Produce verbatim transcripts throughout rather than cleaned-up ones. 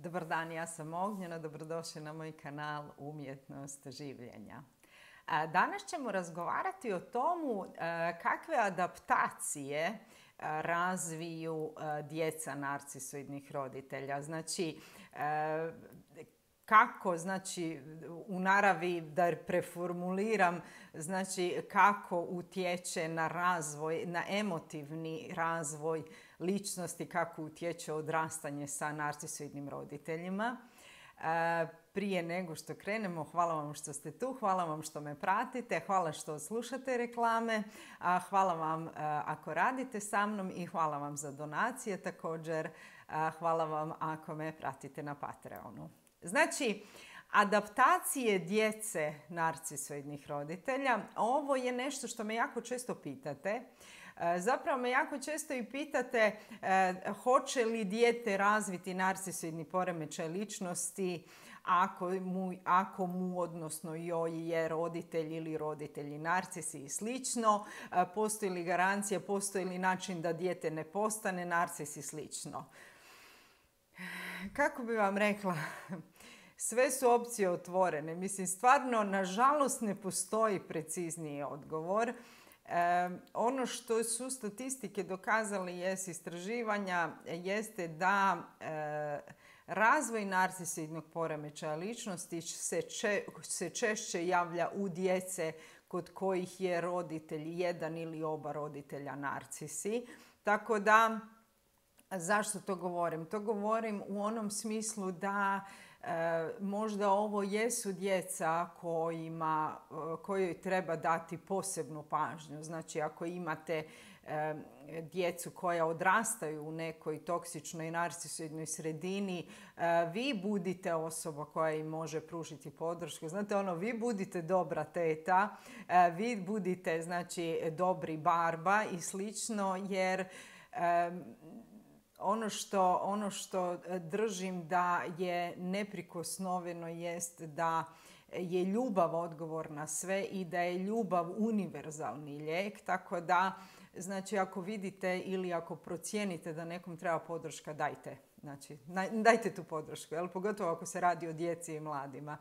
Dobar dan, ja sam Ognjena, dobrodošli na moj kanal Umjetnost življenja. Danas ćemo razgovarati o tomu kakve adaptacije razviju djeca narcisoidnih roditelja. Znači, kako, znači, u naravi, da preformuliram, znači kako utječe na razvoj, na emotivni razvoj ličnosti, kako utječe odrastanje sa narcisoidnim roditeljima. Prije nego što krenemo, hvala vam što ste tu, hvala vam što me pratite, hvala što slušate reklame, hvala vam ako radite sa mnom i hvala vam za donacije također, hvala vam ako me pratite na Patreonu. Znači, adaptacije djece narcisoidnih roditelja, ovo je nešto što me jako često pitate. Zapravo me jako često i pitate hoće li dijete razviti narcisoidni poremećaj ličnosti ako mu, ako mu odnosno joj je roditelj ili roditelji narcisi i slično. Postoji li garancija, postoji li način da dijete ne postane narcis i slično. Kako bi vam rekla, sve su opcije otvorene. Mislim, stvarno, nažalost, ne postoji precizniji odgovor. E, ono što su statistike dokazali, jest istraživanja, jeste da e, razvoj narcisoidnog poremećaja ličnosti se, če, se češće javlja u djece kod kojih je roditelj jedan ili oba roditelja narcisi. Tako da, zašto to govorim? To govorim u onom smislu da E, možda ovo jesu djeca kojima, kojoj treba dati posebnu pažnju. Znači, ako imate e, djecu koja odrastaju u nekoj toksičnoj narcisoidnoj sredini, e, vi budite osoba koja im može pružiti podršku. Znate, ono, vi budite dobra teta, e, vi budite, znači, dobri barba i slično, jer e, Ono što, ono što držim da je neprikosnoveno jest da je ljubav odgovor na sve i da je ljubav univerzalni lijek. Tako da, znači, ako vidite ili ako procijenite da nekom treba podrška, dajte. Znači, dajte tu podršku, jel? Pogotovo ako se radi o djeci i mladima.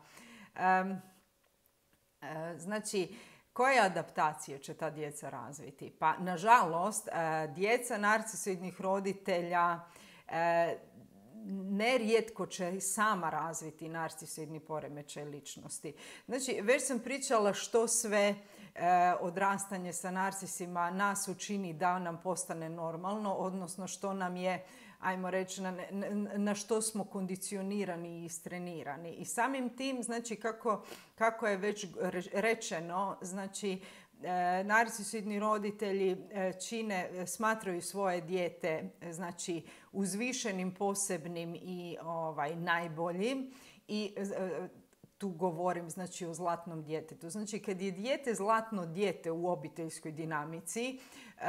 Um, znači, koje adaptacije će ta djeca razviti? Pa, nažalost, djeca narcisoidnih roditelja nerijetko će sama razviti narcisoidni poremećaj ličnosti. Znači, već sam pričala što sve odrastanje sa narcisima nas učini da nam postane normalno, odnosno što nam je, ajmo reći, na, na što smo kondicionirani i istrenirani. I samim tim, znači, kako, kako je već rečeno, znači, e, narcisoidni roditelji čine, smatraju svoje dijete, znači, uzvišenim, posebnim i ovaj, najboljim. I e, tu govorim, znači, o zlatnom djetetu. Znači, kad je dijete zlatno dijete u obiteljskoj dinamici, e,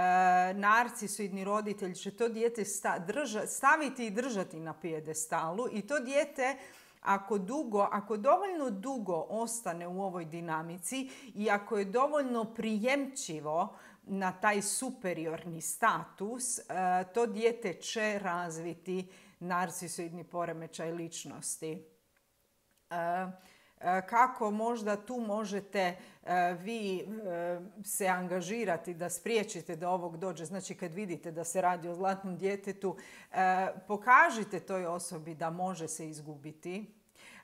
narcisoidni roditelj će to dijete sta, drža, staviti i držati na pijedestalu i to dijete, ako, dugo, ako dovoljno dugo ostane u ovoj dinamici i ako je dovoljno prijemčivo na taj superiorni status, e, to dijete će razviti narcisoidni poremećaj ličnosti. E, Kako možda tu možete vi se angažirati da spriječite da ovog dođe. Znači, kad vidite da se radi o zlatnom djetetu, pokažite toj osobi da može se izgubiti.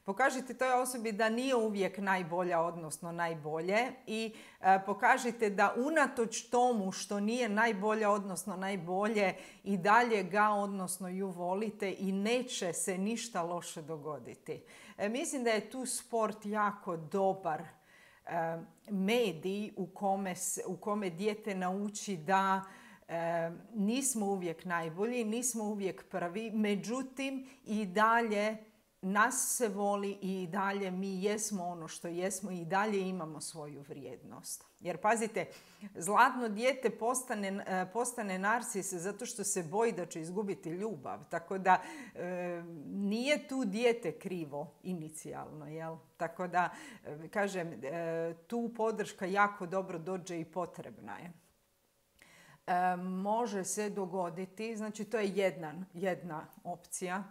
Pokažite toj osobi da nije uvijek najbolja, odnosno najbolje, i e, pokažite da unatoč tomu što nije najbolja, odnosno najbolje, i dalje ga, odnosno ju volite i neće se ništa loše dogoditi. E, mislim da je tu sport jako dobar e, medij u kome, u kome dijete nauči da e, nismo uvijek najbolji, nismo uvijek prvi, međutim i dalje nas se voli i dalje mi jesmo ono što jesmo i dalje imamo svoju vrijednost. Jer pazite, zlatno dijete postane, postane narcis zato što se boji da će izgubiti ljubav. Tako da e, nije tu dijete krivo inicijalno, jel? Tako da, e, kažem, e, tu podrška jako dobro dođe i potrebna je. može se dogoditi, znači to je jedna, jedna opcija.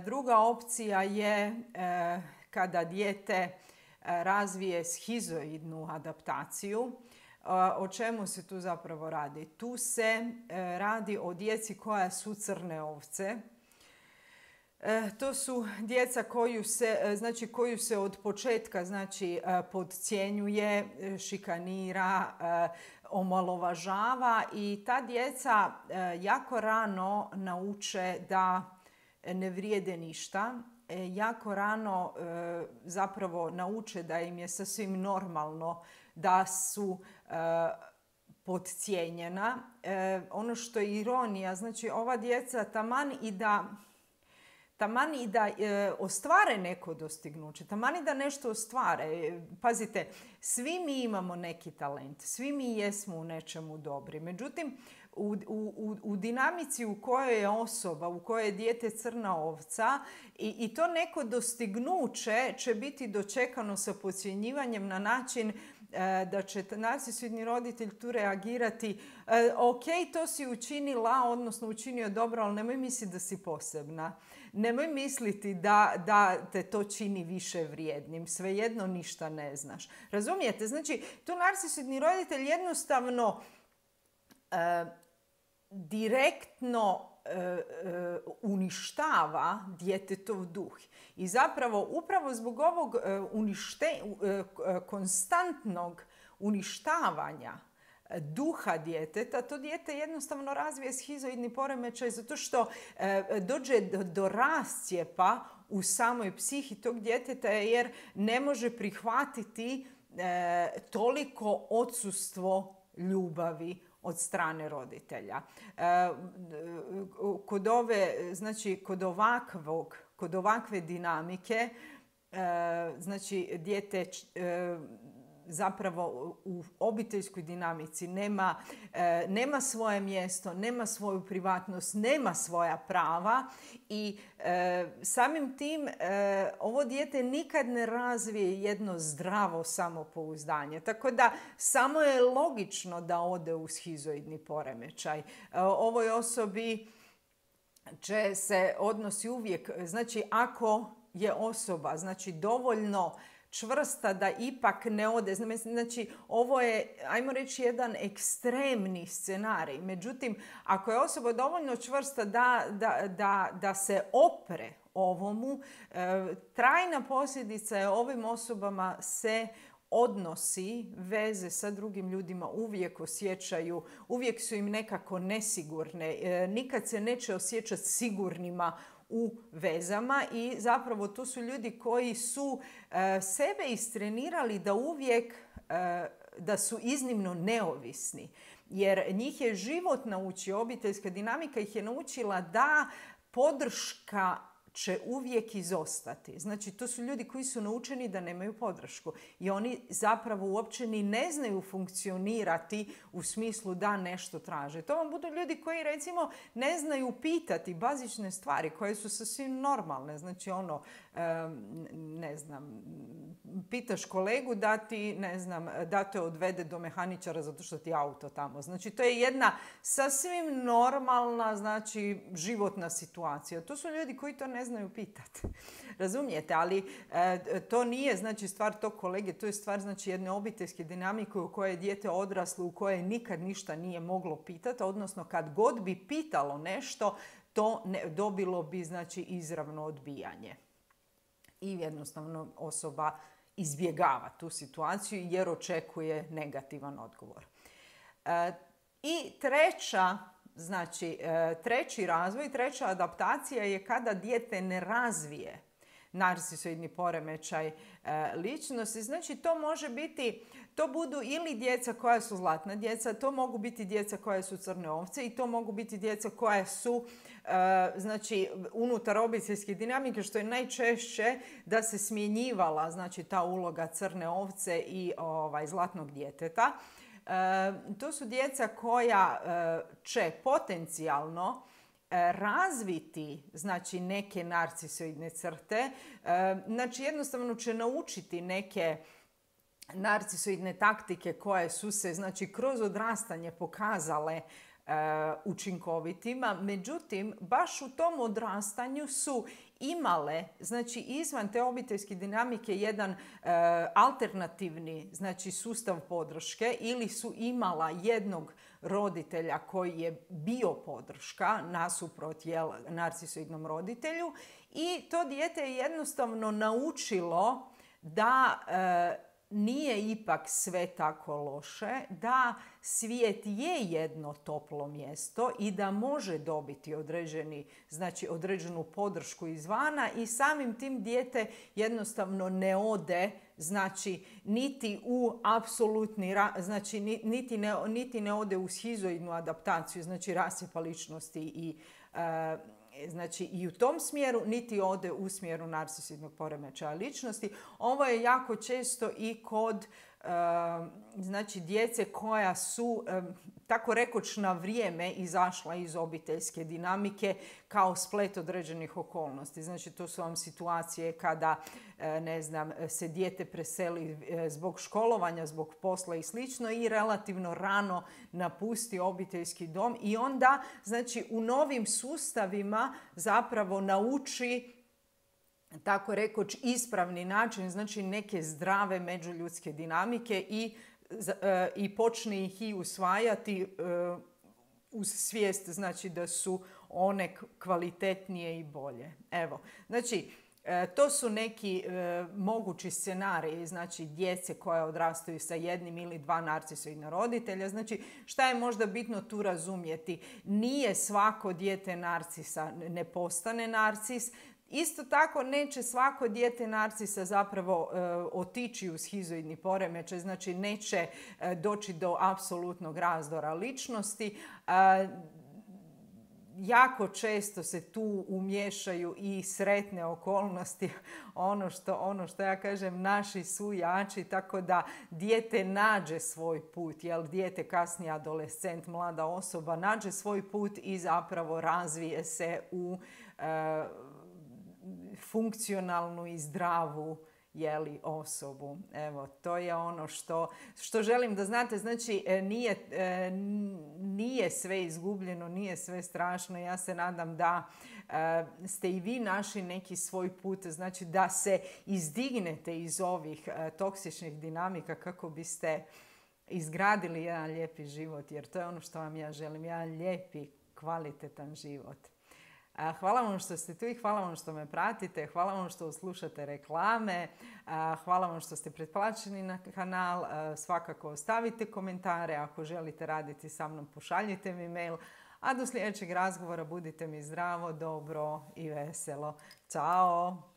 Druga opcija je kada dijete razvije shizoidnu adaptaciju. O čemu se tu zapravo radi? Tu se radi o djeci koja su crne ovce. To su djeca koju se, znači, koju se od početka, znači, podcjenjuje, šikanira, omalovažava i ta djeca jako rano nauče da ne vrijede ništa. Jako rano zapravo nauče da im je sasvim normalno da su podcijenjena. Ono što je ironija, znači ova djeca taman i da Taman i da e, ostvare neko dostignuće, taman i da nešto ostvare. Pazite, svi mi imamo neki talent, svi mi jesmo u nečemu dobri. Međutim, u, u, u dinamici u kojoj je osoba, u kojoj je dijete crna ovca i, i to neko dostignuće će biti dočekano sa podcjenjivanjem na način da će narcisoidni roditelj tu reagirati, ok, to si učinila, odnosno učinio dobro, ali nemoj misliti da si posebna. Nemoj misliti da, da te to čini više vrijednim. Svejedno ništa ne znaš. Razumijete? Znači, tu narcisoidni roditelj jednostavno e, direktno e, e, uništava djetetov duh. I zapravo, upravo zbog ovog e, unište, e, konstantnog uništavanja duha djeteta, to dijete jednostavno razvije shizoidni poremećaj zato što e, dođe do, do rascijepa u samoj psihi tog djeteta jer ne može prihvatiti e, toliko odsustvo ljubavi od strane roditelja. E, kod ove, znači kod ovakvog, kod ovakve dinamike, e, znači dijete e, zapravo u obiteljskoj dinamici nema, e, nema svoje mjesto, nema svoju privatnost, nema svoja prava i e, samim tim e, ovo dijete nikad ne razvije jedno zdravo samopouzdanje. Tako da samo je logično da ode u shizoidni poremećaj. E, ovoj osobi će se odnosi uvijek, znači ako je osoba znači dovoljno čvrsta da ipak ne ode. Znači, ovo je, ajmo reći, jedan ekstremni scenarij. Međutim, ako je osoba dovoljno čvrsta da, da, da, da se opre ovomu, e, trajna posljedica je ovim osobama se odnosi, veze sa drugim ljudima uvijek osjećaju, uvijek su im nekako nesigurne, e, nikad se neće osjećati sigurnima u vezama i zapravo to su ljudi koji su e, sebe istrenirali da uvijek e, da su iznimno neovisni. Jer njih je život naučio, obiteljska dinamika ih je naučila da podrška će uvijek izostati. Znači, to su ljudi koji su naučeni da nemaju podršku. I oni zapravo uopće ni ne znaju funkcionirati u smislu da nešto traže. To vam budu ljudi koji, recimo, ne znaju pitati bazične stvari koje su sasvim normalne. Znači, ono, ne znam, pitaš kolegu da ti, ne znam, da te odvede do mehaničara zato što ti je auto tamo. Znači, to je jedna sasvim normalna, znači, životna situacija. To su ljudi koji to ne znaju pitati. Razumijete? Ali e, to nije, znači, stvar tog kolege, to je stvar, znači, jedne obiteljske dinamike u kojoj je dijete odraslo, u kojoj nikad ništa nije moglo pitati, odnosno kad god bi pitalo nešto, to ne, dobilo bi, znači, izravno odbijanje. I jednostavno osoba izbjegava tu situaciju jer očekuje negativan odgovor. E, I treća, znači, e, treći razvoj, treća adaptacija je kada dijete ne razvije narcisoidni poremećaj e, ličnosti. Znači, to može biti, to budu ili djeca koja su zlatna djeca, to mogu biti djeca koja su crne ovce i to mogu biti djeca koja su e, znači, unutar obiteljske dinamike, što je najčešće da se smjenjivala, znači, ta uloga crne ovce i ovaj, zlatnog djeteta. E, to su djeca koja e, će potencijalno razviti, znači, neke narcisoidne crte. Znači, jednostavno će naučiti neke narcisoidne taktike koje su se, znači, kroz odrastanje pokazale učinkovitima, međutim, baš u tom odrastanju su imale, znači, izvan te obiteljske dinamike jedan e, alternativni, znači, sustav podrške, ili su imala jednog roditelja koji je bio podrška nasuprot, jel, narcisoidnom roditelju, i to dijete je jednostavno naučilo da e, nije ipak sve tako loše, da svijet je jedno toplo mjesto i da može dobiti određeni, znači, određenu podršku izvana, i samim tim dijete jednostavno ne ode, znači, niti u apsolutni, znači, niti ne, niti ne ode u schizoidnu adaptaciju, znači rascijepa ličnosti i e, znači, i u tom smjeru, niti ode u smjeru narcisoidnog poremećaja ličnosti. Ovo je jako često i kod e, znači, djece koja su, e, tako rekoč, na vrijeme izašla iz obiteljske dinamike kao splet određenih okolnosti. Znači, to su vam situacije kada, e, ne znam, se dijete preseli e, zbog školovanja, zbog posla i slično, i relativno rano napusti obiteljski dom, i onda, znači, u novim sustavima zapravo nauči, tako rekoč, ispravni način, znači, neke zdrave međuljudske dinamike, i, e, i počne ih i usvajati e, uz svijest, znači, da su one kvalitetnije i bolje. Evo, znači, e, to su neki e, mogući scenariji, znači, djece koja odrastaju sa jednim ili dva narcisoidna roditelja. Znači, šta je možda bitno tu razumjeti? Nije svako dijete narcisa ne postane narcis. Isto tako, neće svako dijete narcisa zapravo e, otići u schizoidni poremećaj, znači neće e, doći do apsolutnog razdora ličnosti. E, jako često se tu umiješaju i sretne okolnosti, ono što, ono što ja kažem, naši su jači, tako da dijete nađe svoj put, jel, dijete, kasnije adolescent, mlada osoba, nađe svoj put i zapravo razvije se u e, funkcionalnu i zdravu, jeli, osobu. Evo, to je ono što, što želim da znate. Znači, nije, nije sve izgubljeno, nije sve strašno. Ja se nadam da ste i vi našli neki svoj put, znači da se izdignete iz ovih toksičnih dinamika kako biste izgradili jedan lijepi život, jer to je ono što vam ja želim, jedan lijepi, kvalitetan život. Hvala vam što ste tu i hvala vam što me pratite, hvala vam što slušate reklame, hvala vam što ste pretplaćeni na kanal, svakako ostavite komentare, ako želite raditi sa mnom pošaljite mi mail, a do sljedećeg razgovora budite mi zdravo, dobro i veselo. Ćao!